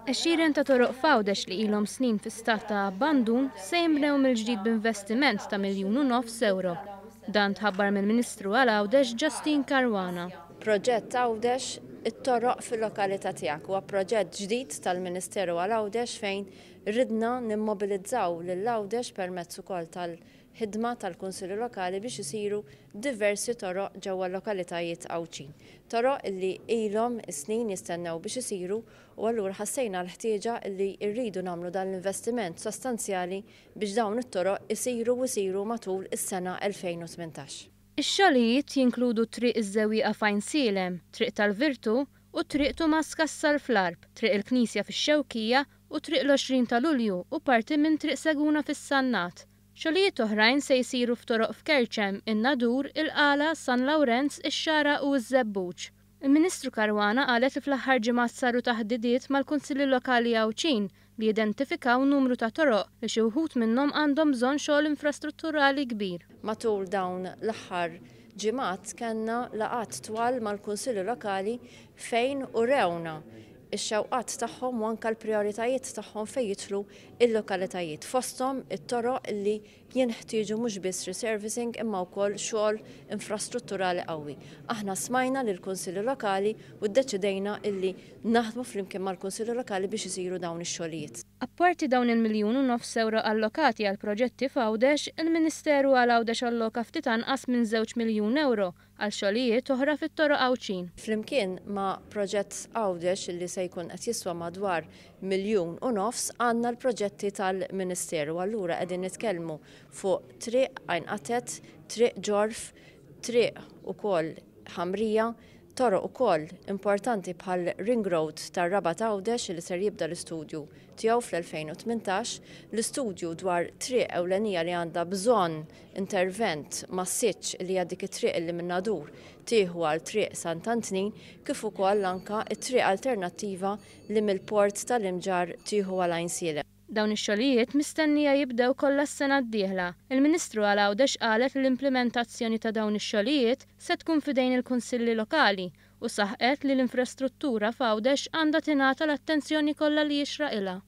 Għexieren ta' toroq f'Għawdex li ilhom snin fi stat ta' abbandun se jinbnew mill-ġdid b'investiment ta' 1.5 miljun ewro. Dan tħabbar mill-Ministru għal Għawdex Justyne Caruana. Proġett Għawdex it-toroq fil-lokalità tiegħek huwa proġett ġdid tal-Ministeru għal Għawdex fejn ridna nimmobilizzaw lil Għawdex permezz ukoll tal-ħidma tal-Kunsilli Lokali biex isiru diversi toroq ġewwa l-lokalitajiet Għawdxin. Toroq illi ilhom snin jistennew biex isiru u allura ħassejna l-ħtieġa li rridu nagħmlu dan l-investiment sostanzjali biex dawn it-toroq isiru u isiru matul is-sena 2018. Ix-xogħlijiet jinkludu Triq iż-Żewwieqa f'Għajnsielem, Triq tal-Virtu u Triq Tumas Cassar fl-Għarb, Triq il-Knisja fix-Xewkija u Triq l-20 ta' Lulju u parti minn Triq Seguna fis-Sannat. Xogħlijiet oħrajn se jsiru f'toroq f'Kerċem, in-Nadur, il-Qala, San Lawrenz, ix-Xagħra u ż-Żebbuġ. Il-Ministru Caruana qalet li fl-aħħar ġimgħat saru taħdidiet mal-Kunsilli Lokali Għawdxin li identifikaw numru ta' toroq li xi wħud minnhom għandhom bżonn xogħol infrastrutturali kbir. Matul dawn l-aħħar ġimgħat kellna laqgħat twal mal-Kunsilli Lokali fejn urewna ix-xewqat tagħhom u anke l-prijoritajiet tagħhom fejn jidħlu il-lokalitajiet. Fosthom it-toroq li jinħtieġu mhux biss resurfacing imma wkoll xogħol infrastrutturali qawwi. Aħna smajna lill-Kunsilli Lokali u ddeċidejna illi naħdmu flimkien mal-Kunsilli Lokali biex isiru dawn ix-xogħlijiet. Apparti dawn il-1.5 miljun euro allokati għal proġetti f'Għawdex, il-Ministeru għal Għawdex alloka ftit anqas minn 2 miljun euro għal xogħlijiet oħra fit-toroq Għawdxin. Flimkien ma' proġett Għawdex li se jkun qed jiswa madwar 1.5 miljun għandna l-proġetti tal-Ministeru. Allura qegħdin nitkellmu fuq Triq Għajn Qatet, Triq Ġorf, Triq ukoll Ħamrija, toroq ukoll importanti bħal Ring Road tar-Rabat Għawdex li ser jibda l-istudju tiegħu fl-2018, l-istudju dwar triq ewlenija li għandha bżonn intervent massiċ li hija dik it-triq li minn Nadur tieħu għal Triq Sant'Antnin, kif ukoll anka it-triq alternattiva li mill-port tal-Imġarr tieħu għal Għajnsielem. Dawn ix-xogħlijiet mistennija jibdew kollha s-sena d-dieħla. Il-Ministru għal Għawdex qalet li l-implementazzjoni ta' dawn ix-xogħlijiet se tkun f'idejn il-kunsilli lokali u saħqet li l-infrastruttura f'Għawdex għandha tingħata l-attenzjoni kollha li jixraqilha.